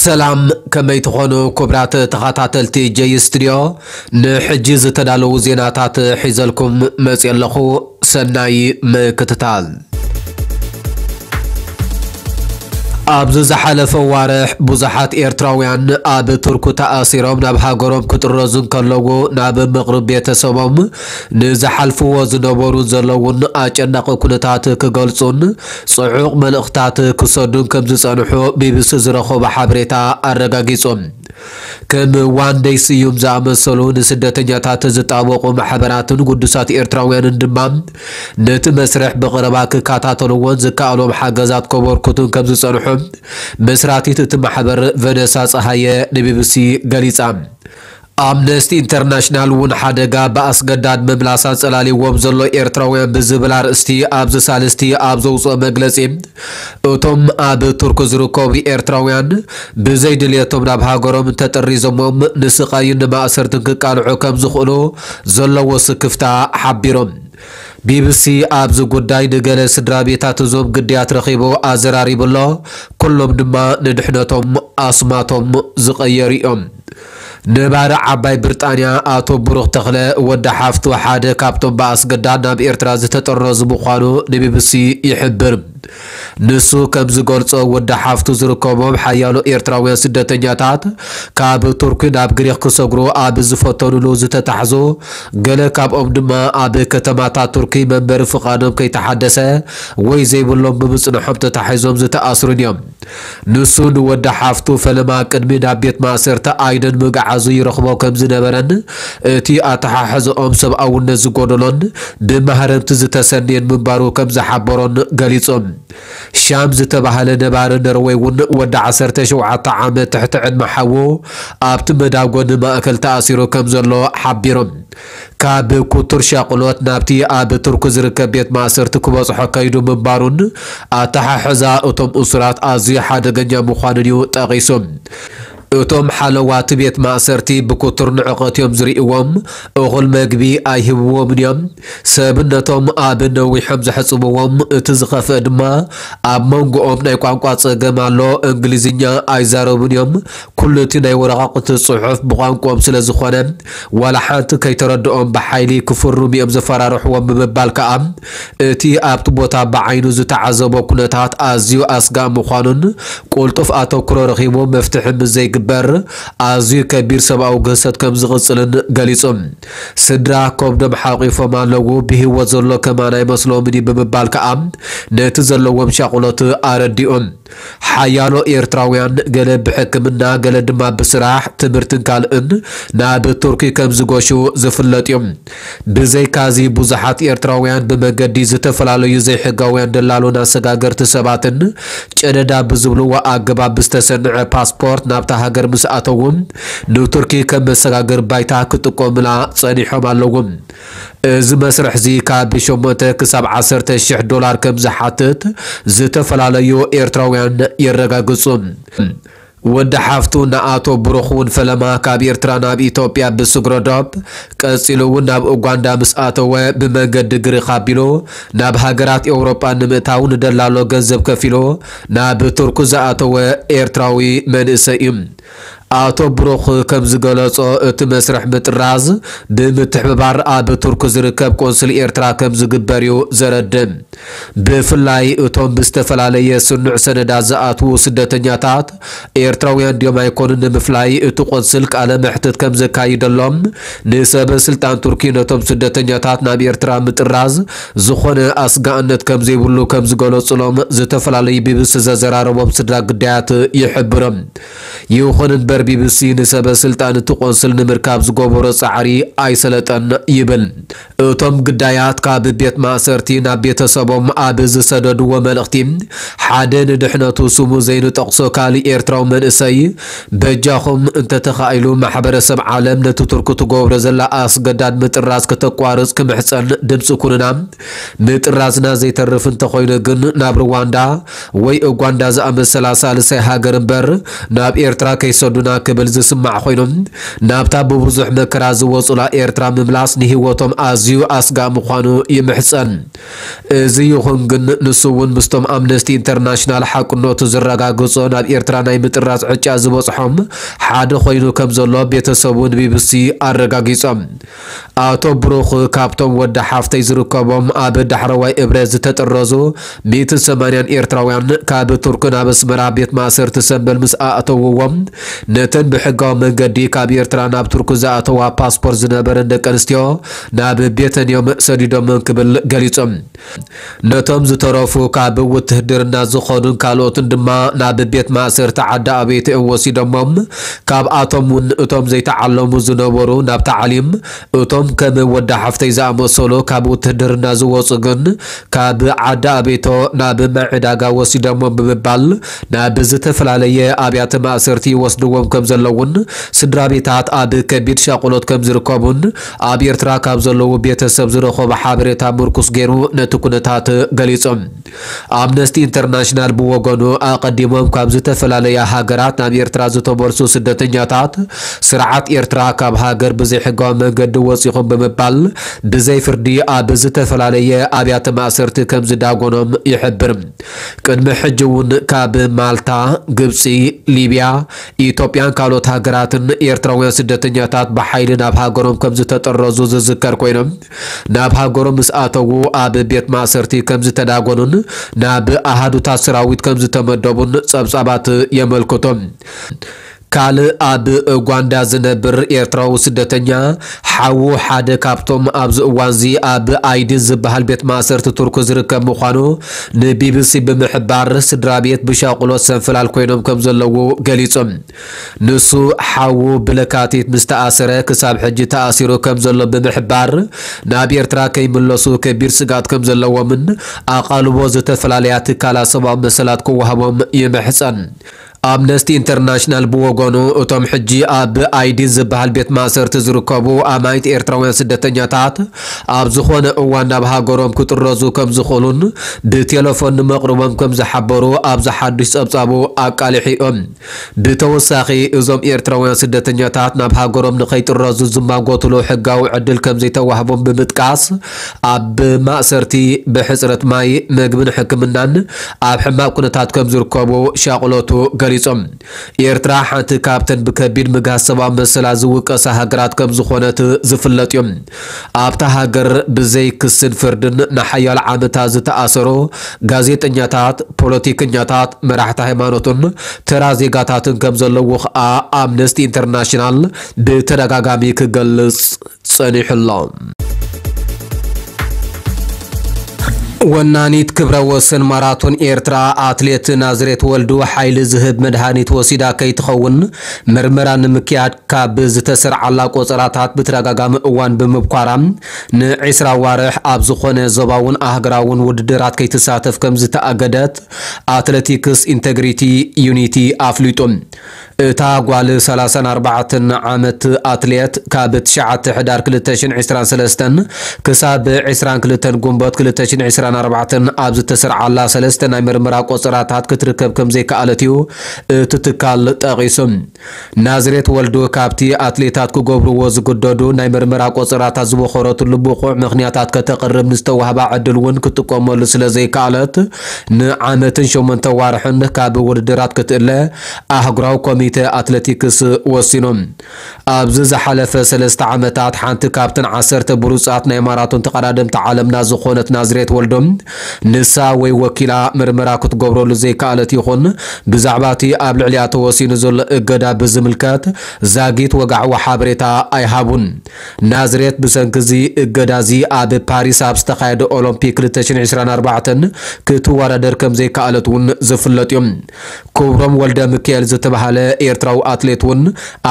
ሰላም፣ ከመይ ትኾኑ ክቡራት ተኸታተልቲ ጀይ ስቱድዮ? ንሕጂ ዝተዳለዉ ዜናታት ሒዘልኩም መፅእ ኣለኹ። ሰናይ ምክትታል። ኣብዚ ዝሓለፈ ዋርሕ ብዙሓት ኤርትራውያን ኣብ ቱርኩ ተኣሲሮም ናብ ሃገሮም ክጥረዙ እንከለዉ፣ ናብ ምቕርብ ቤተሰቦም ንዝሓልፍዎ ዝነበሩን ዘለውን ኣጨናቒ ኩነታት ክገልጹን ጽዑቕ መልእኽታት ክሰዱን ከም ዝጸንሑ ቢቢሲ ዝረኸቦ ሓበሬታ ኣረጋጊጹ። ከም ዋንደይ ስዩም ዝኣመሰሉ ንስደተኛታት ዝጣበቑ ማሕበራትን ግዱሳት ኤርትራውያንን ድማ ነቲ መስርሕ ብቐረባ ክከታተልዎን ዝከኣሎም ሓገዛት ከበርክቱን ከም ዝጸንሑ መስራቲት እቲ ማሕበር ቨነሳ ጸሃየ ንቢቢሲ ገሊጻ። ኣምነስቲ ኢንተርናሽናል እውን ሓደጋ ብኣስገዳድ ምምላስ ኣንጸላልይዎም ዘሎ ኤርትራውያን ብዝብል ኣርእስቲ ኣብዚ ሳልስቲ ኣብ ዘውፅኦ መግለጺ፣ እቶም ኣብ ቱርክ ዝርከቡ ኤርትራውያን ብዘይ ድልየቶም ናብ ሃገሮም እንተጠሪዞሞም ንስቓይን ንማእሰርትን ክቃልዑ ከም ዝኽእሉ ዘለዎ ስክፍታ ሓቢሮም። ቢቢሲ ኣብዚ ጉዳይ ንገለ ስድራ ቤታት እዞም ግዳያት ረኺቡ ኣዘራሪቡ ኣሎ። ኩሎም ድማ ንድሕነቶም ኣስማቶም ዝቐየሩ እዮም። ነባሪ ዓባይ ብሪጣንያ ኣቶ ብሩኽ ተኽለ፣ ወዲ ሓፍቱ ሓደ ካብቶም ብኣስገዳድ ናብ ኤርትራ ዝተጠረዙ ምዃኑ ንቢቢሲ ይሕብር። ንሱ ከም ዝገልጾ፣ ወዲ ሓፍቱ ዝርከቦም ሓያሎ ኤርትራውያን ስደተኛታት ካብ ቱርኪ ናብ ግሪኽ ክሰግሩ ኣብ ዝፈተኑሉ ዝተታሕዙ፣ ገለ ካብኦም ድማ ኣብ ከተማታት ቱርኪ መንበሪ ፍቓዶም ከይተሓደሰ ወይ ዘይብሎም ብምጽንሖም ተታሒዞም ዝተኣስሩን እዮም። ንሱ ንወዲ ሓፍቱ ፈለማ ቅድሚ ናብ ቤት ማእሰርቲ ኣይደን ምግዓዙ ይረኽቦ ከም ዝነበረን፣ እቲ ኣተሓሕዘኦም ሰብኣውነት ዝጎደሎን ብማህረምቲ ዝተሰንየን ምንባሩ ከም ዝሓበሮን ገሊጹ። ሻም ዝተባህለ ነባሪ ነርወይ እውን ወዲ ዓሰርተ ሸውዓተ ዓመት ትሕቲ ዕድመ ሓዉ ኣብቲ መዳጎኒ ማእከል ተኣሲሩ ከም ዘሎ ሓቢሩ። ካብ ኩቱር ሻቕሎት ናብቲ ኣብ ቱርክ ዝርከብ ቤት ማእሰርቲ ክበጽሖ ከይዱ ምንባሩን ኣተሓሕዛ እቶም እሱራት ኣዝዩ ሓደገኛ ምዃኑን እዩ ጠቒሱ። እቶም ሓለዋ እቲ ቤት ማእሰርቲ ብኩቱር ንዕቐት እዮም ዝርእይዎም። እኹል መግቢ ኣይህብዎምን እዮም። ሰብነቶም ኣብ ነዊሖም ዘሕጽብዎም። እቲ ዝኸፍአ ድማ ኣብ መንጎኦም ናይ ቋንቋ ጸገም ኣሎ። እንግሊዝኛ ኣይዛረቡን እዮም። ኩሉ እቲ ናይ ወረቓቕቲ ጽሑፍ ብቋንቋኦም ስለ ዝኾነ፣ ዋላ ሓንቲ ከይተረድኦም ብሓይሊ ክፍርሙ እዮም ዘፈራርሕዎም ብምባል ከኣ፣ እቲ ኣብቲ ቦታ ብዓይኑ ዝተዓዘቦ ኩነታት ኣዝዩ ኣስጋእ ምዃኑን፣ ቁልጡፍ ኣተኩሮ ረኺቡ መፍትሒ ምስ ዘይግበር፣ ኣዝዩ ከቢድ ሰብኣዊ ግህሰት ከም ዝቕጽልን ገሊጹ። ስድራ ከብዶም ሓቒፎም ኣለዉ፣ ብህይወት ዘሎ ከማን ኣይመስሎምን እዩ ብምባል ከኣ፣ ነቲ ዘለዎም ሻቕሎት ኣረዲኦም። ሓያሎ ኤርትራውያን ገለ ብሕክምና፣ ገለ ድማ ብስራሕ፣ ትምህርትን ካልእን ናብ ቱርኪ ከም ዝገሹ ዝፍለጥ እዮም። ብዘይካዚ፣ ብዙሓት ኤርትራውያን ብመገዲ ዝተፈላለዩ ዘይሕጋውያን ደላሎን ኣሰጋገርቲ ሰባትን ጨደዳ ብዝብልዎ ኣገባብ ብዝተሰንዐ ፓስፖርት ናብታ ሃገር ምስ ኣተዉ፣ ንቱርኪ ከም መሰጋገሪ ባይታ ክጥቀሙላ ጸኒሖም ኣለዉ። እዚ መስርሕዚ ካብ ሸሞንተ ክሳብ ዓሰርተ ሽሕ ዶላር ከም ዝሓትት ዝተፈላለዩ ኤርትራውያን የረጋግጹ። ወዲ ሓፍቱ ንኣቶ ብሩኽ እውን ፈለማ ካብ ኤርትራ ናብ ኢትዮጵያ ብስግረ ዶብ፣ ቀጺሉ እውን ናብ ኡጋንዳ ምስ ኣተወ፣ ብመንገዲ ግሪኽ ኣቢሉ ናብ ሃገራት ኤውሮጳ ንምእታው ንደላሎ ገንዘብ ከፊሉ ናብ ቱርክ ዝኣተወ ኤርትራዊ መንእሰይ እዩ። ኣቶ ብሩኽ ከም ዝገለጾ፣ እቲ መስርሕ ምጥራዝ ብምትሕብባር ኣብ ቱርክ ዝርከብ ቆንስል ኤርትራ ከም ዝግበር እዩ ዘረድእ። ብፍላይ እቶም ብዝተፈላለየ ስኑዕ ሰነዳት ዝኣትዉ ስደተኛታት ኤርትራውያን ድዮም ኣይኮኑን ንምፍላይ እቲ ቆንስል ቃለ መሕትት ከም ዘካይደሎም፣ ንሰበ ስልጣን ቱርኪ ነቶም ስደተኛታት ናብ ኤርትራ ምጥራዝ ዝኾነ ኣስጋእነት ከም ዘይብሉ ከም ዝገለጹሎም ዝተፈላለዩ ቢቢሲ ዘዘራረቦም ስድራ ግዳያት ይሕብሮም። ይኹን እምበር፣ ቢቢሲ ንሰበ ስልጣን እቲ ቆንስል ንምርካብ ዝገበሮ ጻዕሪ ኣይሰለጠን ይብል። እቶም ግዳያት ካብ ቤት ማእሰርቲ ናብ ቤተሰቦም ኣብ ዝሰደድዎ መልእኽቲ፣ ሓደ ንድሕነቱ ስሙ ዘይንጠቕሶ ካልእ ኤርትራዊ መንእሰይ፣ በጃኹም እንተተኻኢሉ ማሕበረሰብ ዓለም ነቲ ቱርኪ ትገብሮ ዘላ ኣስገዳድ ምጥራዝ ከተቋርጽ ክምሕጸን ድምጺ ኩኑና። ምጥራዝና ዘይተርፍ እንተኾይኑ ግን ናብ ሩዋንዳ ወይ ኡጋንዳ ዝኣመሰላ ሳልሳይ ሃገር እምበር ናብ ኤርትራ ከይሰዱ ና ክብል ዝስማዕ ኮይኑ፣ ናብታ ብብዙሕ መከራ ዝወጹላ ኤርትራ ምምላስ ንህይወቶም ኣዝዩ ኣስጋ ምዃኑ ይምሕጸን። እዚ ይኹን ግን፣ ንሱ እውን ምስቶም ኣምነስቲ ኢንተርናሽናል ሓቅነቱ ዝረጋግጾ ናብ ኤርትራ ናይ ምጥራዝ ዕጫ ዝበጽሖም ሓደ ኮይኑ ከም ዘሎ ቤተሰቡ ንቢቢሲ ኣረጋጊጾም። ኣቶ ብሩኽ ካብቶም ወዲ ሓፍተይ ዝርከቦም ኣብ ዳሕረዋይ እብረ ዝተጠረዙ ሚእትን ሰማንያን ኤርትራውያን ካብ ቱርክ ናብ ኣስመራ ቤት ማእሰርቲ ሰንበል ምስ ኣእተውዎም፣ ነተን ብሕጋዊ መንገዲ ካብ ኤርትራ ናብ ቱርክ ዝኣተዋ ፓስፖርት ዝነበረን ደቂ ኣንስትዮ ናብ ቤተን እዮም ሰዲዶመን ክብል ገሊጾም። ነቶም ዝተረፉ ካብ ውትህድርና ዝኾኑን ካልኦትን ድማ ናብ ቤት ማእሰርቲ ዓዲ ኣቤት እዮም ወሲዶሞም። ካብኣቶም እውን እቶም ዘይተዓለሙ ዝነበሩ ናብ ታዕሊም፣ እቶም ከም ወዲ ሓፍተይ ዝኣመሰሉ ካብ ውትህድርና ዝወጹ ግን ካብ ዓዲ ኣቤቶ ናብ ማይ ዕዳጋ ወሲዶሞም ብምባል ናብ ዝተፈላለየ ኣብያተ ማእሰርቲ ይወስድዎም ከም ዘለውን ስድራ ቤታት ኣብ ከቢድ ሻቕሎት ከም ዝርከቡን ኣብ ኤርትራ ካብ ዘለዉ ቤተሰብ ዝረኸቦ ሓበሬታ ምርኩስ ገይሩ ነቲ ኩነታት ገሊጹ። ኣምነስቲ ኢንተርናሽናል ብወገኑ፣ ኣቐዲሞም ካብ ዝተፈላለያ ሃገራት ናብ ኤርትራ ዝተመልሱ ስደተኛታት፣ ስርዓት ኤርትራ ካብ ሃገር ብዘይሕጋዊ መንገዲ ወጺኹም ብምባል ብዘይ ፍርዲ ኣብ ዝተፈላለየ ኣብያተ ማእሰርቲ ከም ዝዳጎኖም ይሕብር። ቅድሚ ሕጂ እውን ካብ ማልታ፣ ግብጺ፣ ሊብያ፣ ኢትዮጵያን ካልኦት ሃገራትን ኤርትራውያን ስደተኛታት ብሓይሊ ናብ ሃገሮም ከም ዝተጠረዙ ዝዝከር ኮይኖም፣ ናብ ሃገሮም ምስ ኣተዉ ኣብ ቤት ማእሰርቲ ከም ዝተዳጎኑን ናብ ኣሃዱታት ሰራዊት ከም ዝተመደቡን ጸብጻባት የመልክቱ። ካልእ ኣብ ኡጋንዳ ዝነብር ኤርትራዊ ስደተኛ ሓዉ ሓደ ካብቶም ኣብዚ እዋንዚ ኣብ ኣይዲን ዝበሃል ቤት ማእሰርቲ ቱርክ ዝርከብ ምዃኑ ንቢቢሲ ብምሕባር፣ ስድራ ቤት ብሻቕሎት ሰንፈላል ኮይኖም ከም ዘለዉ ገሊጹ። ንሱ ሓዉ ብለካቲት ምስ ተኣሰረ ክሳብ ሕጂ ተኣሲሩ ከም ዘሎ ብምሕባር፣ ናብ ኤርትራ ከይምለሱ ከቢድ ስግኣት ከም ዘለዎምን ኣቓልቦ ዝተፈላለያ ትካላት ሰብኣዊ መሰላት ክወሃቦም ይምሕጸን። ኣምነስቲ ኢንተርናሽናል ብወገኑ፣ እቶም ሕጂ ኣብ ኣይዲን ዝበሃል ቤት ማእሰርቲ ዝርከቡ ኣማኢት ኤርትራውያን ስደተኛታት ኣብ ዝኾነ እዋን ናብ ሃገሮም ክጥረዙ ከም ዝኽእሉን ብቴሌፎን ንመቕርቦም ከም ዝሓበሩ ኣብዚ ሓዱሽ ጸብጻቡ ኣቃሊሑ እዩ። ብተወሳኺ፣ እዞም ኤርትራውያን ስደተኛታት ናብ ሃገሮም ንኸይጥረዙ ዝማጎትሉ ሕጋዊ ዕድል ከም ዘይተዋህቦም ብምጥቃስ፣ ኣብ ማእሰርቲ ብሕጽረት ማይ፣ መግብን ሕክምናን ኣብ ሕማቕ ኩነታት ከም ዝርከቡ ሻቕሎቱ ገሊጾም። ኤርትራ ሓንቲ ካብተን ብከቢድ ምግሃስ ሰብኣዊ መሰላት ዝውቀሳ ሃገራት ከም ዝኾነት ዝፍለጥ እዩ። ኣብታ ሃገር ብዘይ ክስን ፍርድን ንሓያሎ ዓመታት ዝተኣሰሩ ጋዜጠኛታት፣ ፖለቲከኛታት፣ መራሕቲ ሃይማኖትን ተራ ዜጋታትን ከም ዘለዉ ኸኣ ኣምነስቲ ኢንተርናሽናል ብተደጋጋሚ ክገልጽ ጸኒሑ ኣሎ። ወናኒት ክብረ ወሰን ማራቶን ኤርትራ ኣትሌት ናዝሬት ወልዱ ሓይሊ ዝህብ መድሃኒት ወሲዳ ከይትኸውን ምርመራ ንምክያድ ካብ ዝተሰርዓላ ቆጸራታት ብተደጋጋሚ እዋን ብምብኳራ ንዒስራ ኣዋርሕ ኣብ ዝኾነ ዞባውን ኣህጉራውን ውድድራት ከይትሳተፍ ከም ዝተኣገደት ኣትሌቲክስ ኢንተግሪቲ ዩኒቲ ኣፍሊጡ። እታ ጓል ሰላሳን ኣርባዕተን ዓመት ኣትሌት ካብ ትሽዓተ ሕዳር ክልተ ሽሕን ዕስራን ሰለስተን ክሳብ ዕስራን ክልተን ጉንቦት ክልተ ሽሕን ዕስራን ኣርባዕተን ኣብ ዝተሰርዓላ ሰለስተ ናይ ምርመራ ቆጸራታት ክትርከብ ከም ዘይከኣለት እዩ እቲ ትካል ጠቒሱ። ናዝሬት ወልዱ ካብቲ ኣትሌታት ክገብርዎ ዝግደዱ ናይ ምርመራ ቆጸራታት ዝበኾረትሉ ብቑዕ ምኽንያታት ከተቕርብ ንዝተዋህባ ዕድል እውን ክትጥቀመሉ ስለ ዘይከኣለት ንዓመትን ሸሞንተ ዋርሕን ካብ ውድድራት ክትእለ ኣህጉራዊ ኮሚተ ኣትሌቲክስ ወሲኑ። ኣብዚ ዝሓለፈ ሰለስተ ዓመታት ሓንቲ ካብተን ዓሰርተ ብሉጻት ናይ ማራቶን ተቐዳደምቲ ዓለምና ዝኾነት ናዝሬት ወልዶም ንሳ ወይ ወኪላ ምርመራ ክትገብረሉ ዘይከኣለት ይኹን ብዛዕባ እቲ ኣብ ልዕሊኣ ተወሲኑ ዘሎ እገዳ ብዝምልከት ዛጊት ወግዓዊ ሓበሬታ ኣይሃቡን። ናዝሬት ብሰንኪ እዚ እገዳ እዚ ኣብ ፓሪስ ኣብ ዝተኻየደ ኦሎምፒክ ክልተ ሽሕን ዕስራን ኣርባዕተን ክትወዳደር ከም ዘይከኣለት እውን ዝፍለጥ እዩ። ክብሮም ወልደ ሚካኤል ዝተባህለ ኤርትራዊ ኣትሌት እውን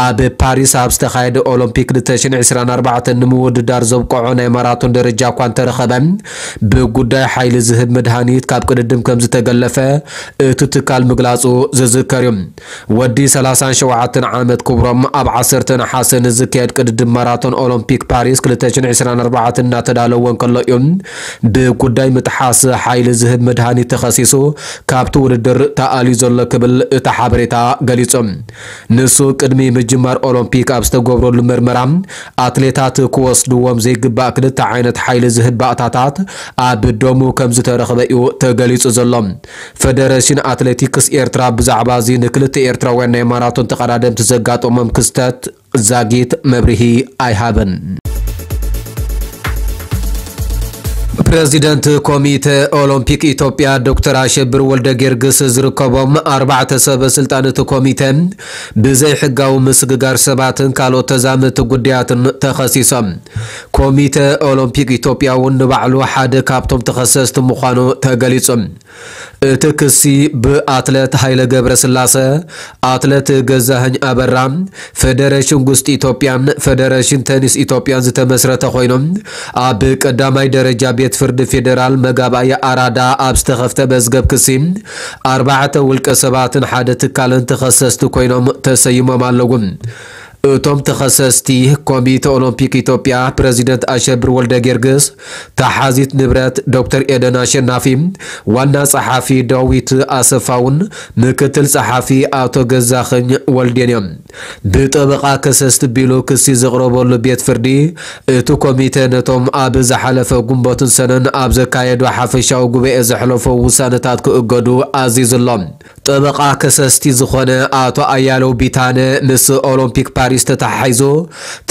ኣብ ፓሪስ ኣብ ዝተኻየደ ኦሎምፒክ ክልተ ሽሕን ዕስራን ኣርባዕተን ንምውድዳር ዘብቅዖ ናይ ማራቶን ደረጃ እኳ እንተረኸበ፣ ብጉዳይ ጥራይ ሓይሊ ዝህብ መድሃኒት ካብ ቅድድም ከም ዝተገለፈ እቲ ትካል ምግላጹ ዝዝከር እዩ። ወዲ ሰላሳን ሸውዓተን ዓመት ክብሮም ኣብ ዓሰርተ ነሓሰ ንዝካየድ ቅድድም ማራቶን ኦሎምፒክ ፓሪስ ክልተ ሽሕን ዕስራን ኣርባዕተን እናተዳለወ እንከሎ እዩ ብጉዳይ ምጥሓስ ሓይሊ ዝህብ መድሃኒት ተኸሲሱ ካብቲ ውድድር ተኣልዩ ዘሎ ክብል እቲ ሓበሬታ ገሊጹ። ንሱ ቅድሚ ምጅማር ኦሎምፒክ ኣብ ዝተገብረሉ መርመራ ኣትሌታት ክወስድዎም ዘይግባእ ክልተ ዓይነት ሓይሊ ዝህብ ባእታታት ኣብ ደሙ ከም ዝተረኽበ እዩ ተገሊጹ ዘሎ። ፈደረሽን ኣትሌቲክስ ኤርትራ ብዛዕባ እዚ ንክልተ ኤርትራውያን ናይ ማራቶን ተቐዳደምቲ ዘጋጠሞም ክስተት ዛጊት መብርሂ ኣይሃበን። ፕረዚደንት ኮሚተ ኦሎምፒክ ኢትዮጵያ ዶክተር ኣሸብር ወልደ ጊዮርጊስ ዝርከቦም ኣርባዕተ ሰበ ስልጣን እቲ ኮሚተ ብዘይሕጋዊ ምስግጋር ሰባትን ካልኦት ተዛመድቲ ጉዳያትን ተኸሲሶም። ኮሚተ ኦሎምፒክ ኢትዮጵያ እውን ንባዕሉ ሓደ ካብቶም ተኸሰስቲ ምዃኑ ተገሊጹ። እቲ ክሲ ብኣትለት ሃይለ ገብረስላሰ፣ ኣትለት ገዛኸኝ ኣበራ፣ ፈደረሽን ጉስጢ ኢትዮጵያን ፈደረሽን ተኒስ ኢትዮጵያን ዝተመስረተ ኮይኖም፣ ኣብ ቀዳማይ ደረጃ ቤት ፍርዲ ፌዴራል መጋባእያ ኣራዳ ኣብ ዝተኸፍተ መዝገብ ክሲ ኣርባዕተ ውልቀ ሰባትን ሓደ ትካልን ተኸሰስቲ ኮይኖም ተሰይሞም ኣለዉ። እቶም ተኸሰስቲ፣ ኮሚተ ኦሎምፒክ ኢትዮጵያ ፕረዚደንት ኣሸብር ወልደ ጊዮርጊስ፣ ተሓዚት ንብረት ዶክተር ኤደን ኣሸናፊ፣ ዋና ጸሓፊ ዳዊት ኣሰፋውን ምክትል ጸሓፊ ኣቶ ገዛኸኝ ወልዴን እዮም። ብጠበቓ ከሰስቲ ቢሉ ክሲ ዘቕረበሉ ቤት ፍርዲ፣ እቲ ኮሚተ ነቶም ኣብ ዝሓለፈ ጉንበትን ሰነን ኣብ ዘካየዶ ሓፈሻዊ ጉባኤ ዘሕለፎ ውሳነታት ክእገዱ ኣዚዙ ኣሎ። ጠበቓ ከሰስቲ ዝኾነ ኣቶ ኣያለው ቢታነ፣ ምስ ኦሎምፒክ ፓሪስ ተተሓሒዙ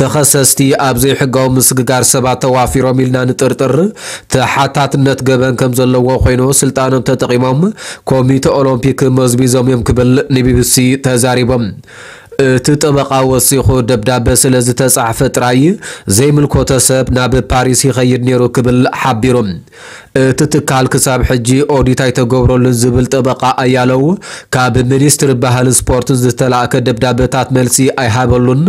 ተኸሰስቲ ኣብ ዘይሕጋዊ ምስግጋር ሰባት ተዋፊሮም ኢልና ንጥርጥር፣ ተሓታትነት ገበን ከም ዘለዎ ኮይኑ ስልጣኖም ተጠቒሞም ኮሚተ ኦሎምፒክ መዝቢዞም እዮም ክብል ንቢቢሲ ተዛሪቦም። እቲ ጠበቓ ወሲኹ፣ ደብዳበ ስለ ዝተጻሕፈ ጥራይ ዘይምልኮቶ ሰብ ናብ ፓሪስ ይኸይድ ነይሩ ክብል ሓቢሩ። እቲ ትካል ክሳብ ሕጂ ኦዲት ኣይተገብረሉን ዝብል ጠበቓ ኣያለው፣ ካብ ሚኒስትሪ ባህልን ስፖርትን ዝተላእከ ደብዳበታት መልሲ ኣይሃበሉን።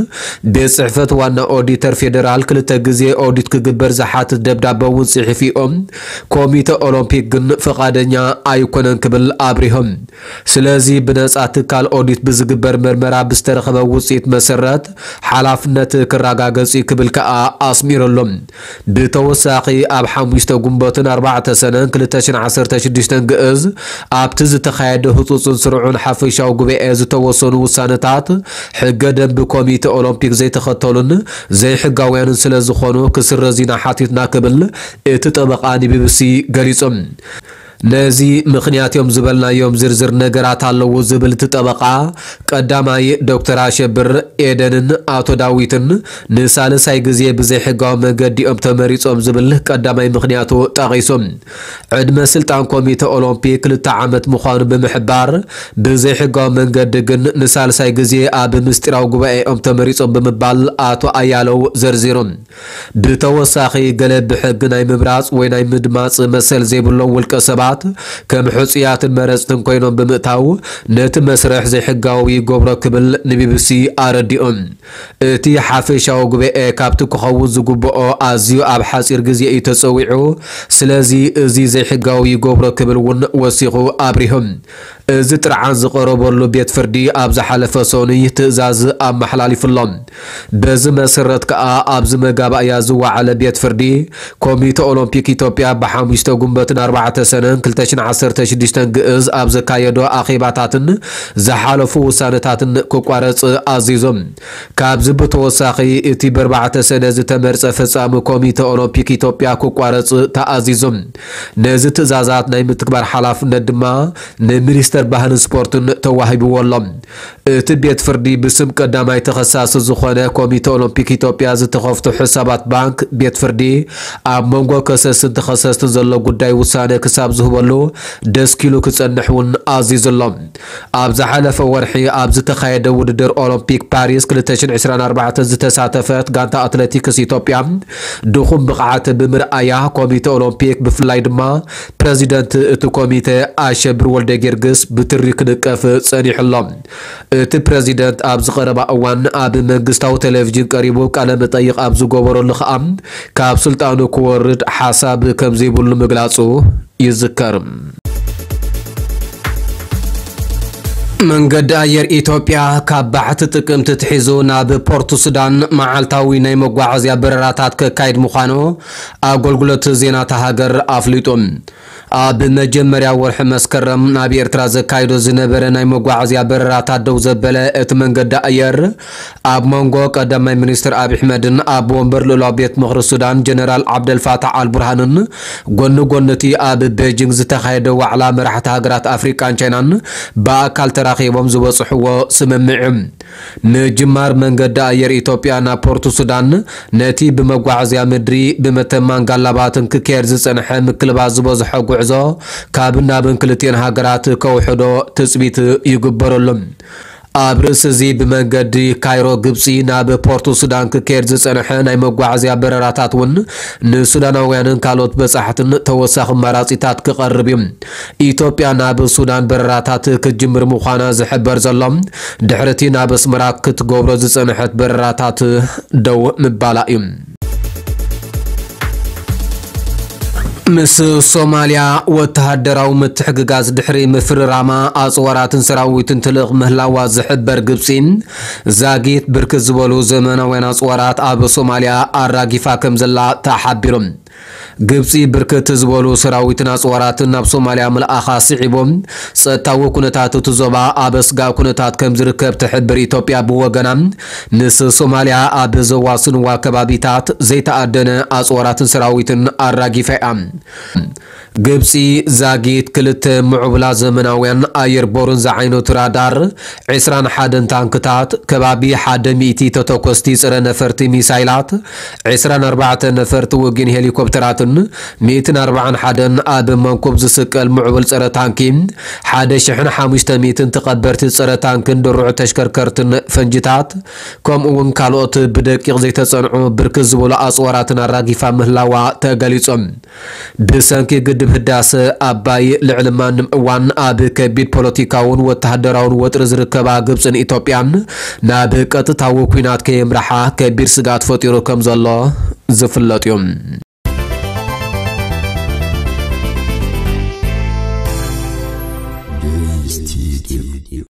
ቤት ጽሕፈት ዋና ኦዲተር ፌዴራል ክልተ ግዜ ኦዲት ክግበር ዝሓትት ደብዳበ እውን ጽሒፉ እዮም። ኮሚተ ኦሎምፒክ ግን ፍቓደኛ ኣይኮነን ክብል ኣብሪሆም። ስለዚ ብነጻ ትካል ኦዲት ብዝግበር መርመራ ብዝተረኸበ ውጽኢት መሰረት ሓላፍነት ክረጋገጽ እዩ ክብል ከኣ ኣስሚሩሎም። ብተወሳኺ ኣብ ሓሙሽተ ጉንበትን ኣርባዕተ ሰነን ክልተ ሽሕን ዓሰርተ ሽዱሽተን ግእዝ ኣብቲ ዝተኻየደ ህጹጽን ስሩዕን ሓፈሻዊ ጉባኤ ዝተወሰኑ ውሳነታት ሕገ ደንቢ ኮሚተ ኦሎምፒክ ዘይተኸተሉን ዘይሕጋውያንን ስለ ዝኾኑ ክስረዝ ኢና ሓቲትና ክብል እቲ ጠበቓ ንቢቢሲ ገሊጹ። ነዚ ምኽንያት እዮም ዝበልናዮም ዝርዝር ነገራት ኣለዉ ዝብል እቲ ጠበቓ፣ ቀዳማይ ዶክተር ኣሸብር፣ ኤደንን ኣቶ ዳዊትን ንሳልሳይ ግዜ ብዘይሕጋዊ መንገዲ እዮም ተመሪጾም ዝብል ቀዳማይ ምኽንያቱ ጠቒሱ። ዕድመ ስልጣን ኮሚተ ኦሎምፒክ ክልተ ዓመት ምዃኑ ብምሕባር፣ ብዘይሕጋዊ መንገዲ ግን ንሳልሳይ ግዜ ኣብ ምስጢራዊ ጉባኤ እዮም ተመሪጾም ብምባል ኣቶ ኣያለው ዘርዚሩ። ብተወሳኺ፣ ገለ ብሕጊ ናይ ምምራጽ ወይ ናይ ምድማጽ መሰል ዘይብሎም ውልቀ ሰባት ከም ሕጹያትን መረጽትን ኮይኖም ብምእታው፣ ነቲ መስርሕ ዘይሕጋዊ ይገብሮ ክብል ንቢቢሲ ኣረዲኡ። እቲ ሓፈሻዊ ጉባኤ ካብቲ ክኸውን ዝግብኦ ኣዝዩ ኣብ ሓጺር ግዜ እዩ ተጸዊዑ፣ ስለዚ እዚ ዘይሕጋዊ ይገብሮ ክብል እውን ወሲኹ ኣብሪሁ። እዚ ጥርዓን ዝቐረበሉ ቤት ፍርዲ ኣብ ዝሓለፈ ሰኑይ ትእዛዝ ኣመሓላሊፉ ኣሎ። በዚ መሰረት ከኣ ኣብዚ መጋባእያ ዝወዓለ ቤት ፍርዲ ኮሚተ ኦሎምፒክ ኢትዮጵያ ብሓሙሽተ ጉንበትን ኣርባዕተ ሰነን ክልተ ሽሕን ዓሰርተ ሽዱሽተን ግእዝ ኣብ ዘካየዶ ኣኼባታትን ዝሓለፉ ውሳነታትን ክቋረጽ ኣዚዙ። ካብዚ ብተወሳኺ እቲ ብኣርባዕተ ሰነ ዝተመርጸ ፈጻሚ ኮሚተ ኦሎምፒክ ኢትዮጵያ ክቋረጽ ተኣዚዙ። ነዚ ትእዛዛት ናይ ምትግባር ሓላፍነት ድማ ንሚኒስተር ባህልን ስፖርትን ተዋሂብዎ ኣሎ። እቲ ቤት ፍርዲ ብስም ቀዳማይ ተኸሳሲ ዝኾነ ኮሚተ ኦሎምፒክ ኢትዮጵያ ዝተኸፍቱ ሕሳባት ባንክ ቤት ፍርዲ ኣብ መንጎ ከሰስን ተኸሰስትን ዘሎ ጉዳይ ውሳነ ክሳብ ዝህበሉ ደስኪሉ ክጸንሕ እውን ኣዚዙ ኣሎ። ኣብ ዝሓለፈ ወርሒ ኣብ ዝተኻየደ ውድድር ኦሎምፒክ ፓሪስ ክልተ ሽሕን ዕስራን ኣርባዕተን ዝተሳተፈት ጋንታ ኣትሌቲክስ ኢትዮጵያ ድኹም ብቕዓት ብምርኣያ ኮሚተ ኦሎምፒክ ብፍላይ ድማ ፕረዚደንት እቲ ኮሚተ ኣሸብር ወልደ ጊዮርጊስ ብትሪ ክድቀፍ ጸኒሑ ኣሎ። እቲ ፕረዚደንት ኣብዚ ቀረባ እዋን ኣብ መንግስታዊ ቴሌቪዥን ቀሪቡ ቃለ መጠይቕ ኣብ ዝገበረሉ ከኣ፣ ካብ ስልጣኑ ክወርድ ሓሳብ ከም ዘይብሉ ምግላጹ ይዝከር። መንገዲ ኣየር ኢትዮጵያ ካብ ባሕቲ ጥቅምቲ ትሒዙ ናብ ፖርት ሱዳን መዓልታዊ ናይ መጓዓዝያ በረራታት ከካይድ ምዃኑ ኣገልግሎት ዜና እታ ሃገር ኣፍሊጡ። ኣብ መጀመርያ ወርሒ መስከረም ናብ ኤርትራ ዘካይዶ ዝነበረ ናይ መጓዓዝያ በረራታት ደው ዘበለ እቲ መንገዲ ኣየር፣ ኣብ መንጎ ቀዳማይ ሚኒስትር ኣብይ ኣሕመድን ኣብ ወንበር ልኡላዊ ቤት ምኽሪ ሱዳን ጀነራል ዓብደልፋታሕ ኣልቡርሃንን ጎኒ ጎኒ እቲ ኣብ ቤጂንግ ዝተኻየደ ዋዕላ መራሕቲ ሃገራት ኣፍሪቃን ቻይናን ብኣካል ተራኺቦም ዝበጽሕዎ ስምምዕ እዩ። ምጅማር መንገዲ ኣየር ኢትዮጵያ ናብ ፖርት ሱዳን፣ ነቲ ብመጓዓዝያ ምድሪ ብመተማን ጋላባትን ክካየድ ዝጸንሐ ምክልባት ዝበዝሖ ጉዕዞ ካብን ናብን ክልቲኤን ሃገራት ከውሕዶ ትጽቢት ይግበረሉ። ኣብ ርእሲ እዚ፣ ብመንገዲ ካይሮ ግብጺ ናብ ፖርት ሱዳን ክካየድ ዝጸንሐ ናይ መጓዓዝያ በረራታት እውን ንሱዳናውያንን ካልኦት በጻሕትን ተወሳኺ ኣማራጺታት ክቐርብ እዩ። ኢትዮጵያ ናብ ሱዳን በረራታት ክትጅምር ምዃና ዝሕበር ዘሎ፣ ድሕሪ እቲ ናብ ኣስመራ ክትገብሮ ዝጸንሐት በረራታት ደው ምባላ እዩ። ምስ ሶማልያ ወተሃደራዊ ምትሕግጋዝ ድሕሪ ምፍርራማ፣ ኣጽዋራትን ሰራዊትን ትልእኽ ምህላዋ ዝሕበር ግብጺ፣ ዛጊት ብርክት ዝበሉ ዘመናውያን ኣጽዋራት ኣብ ሶማልያ ኣራጊፋ ከም ዘላ ተሓቢሩ። ግብጺ ብርክት ዝበሉ ሰራዊትን ኣጽዋራትን ናብ ሶማልያ ምልኣኻ ስዒቡ፣ ጸጥታዊ ኩነታት እቲ ዞባ ኣብ ኣስጋኢ ኩነታት ከም ዝርከብ ትሕብር ኢትዮጵያ ብወገና፣ ምስ ሶማልያ ኣብ ዘዋስንዋ ከባቢታት ዘይተኣደነ ኣጽዋራትን ሰራዊትን ኣራጊፋ እያ። ግብጺ ዛጊት ክልተ ምዕቡላ ዘመናውያን ኣየር ቦርን ዝዓይነቱ ራዳር፣ ዕስራን ሓደን ታንክታት፣ ከባቢ ሓደ ሚእቲ ተተኮስቲ ጸረ ነፈርቲ ሚሳይላት፣ ዕስራን ኣርባዕተ ነፈርቲ ውግን ሄሊኮፕተራትን፣ ሚእትን ኣርባዓን ሓደን ኣብ መንኩብ ዝስቀል ምዕቡል ጸረ ታንኪ፣ ሓደ ሽሕን ሓሙሽተ ሚእትን ተቐበርቲ ጸረ ታንክን ድሩዕ ተሽከርከርትን ፈንጅታት፣ ከምኡ እውን ካልኦት ብደቂቕ ዘይተጸንዑ ብርክት ዝበሉ ኣጽዋራትን ኣራጊፋ ምህላዋ ተገሊጹ። ብሰንኪ ግድብ ህዳሰ ኣባይ ልዕሊ ማንም እዋን ኣብ ከቢድ ፖለቲካውን ወተሃደራውን ወጥሪ ዝርከባ ግብጽን ኢትዮጵያን፣ ናብ ቀጥታዊ ኲናት ከየምርሓ ከቢድ ስግኣት ፈጢሩ ከም ዘሎ ዝፍለጥ እዩ።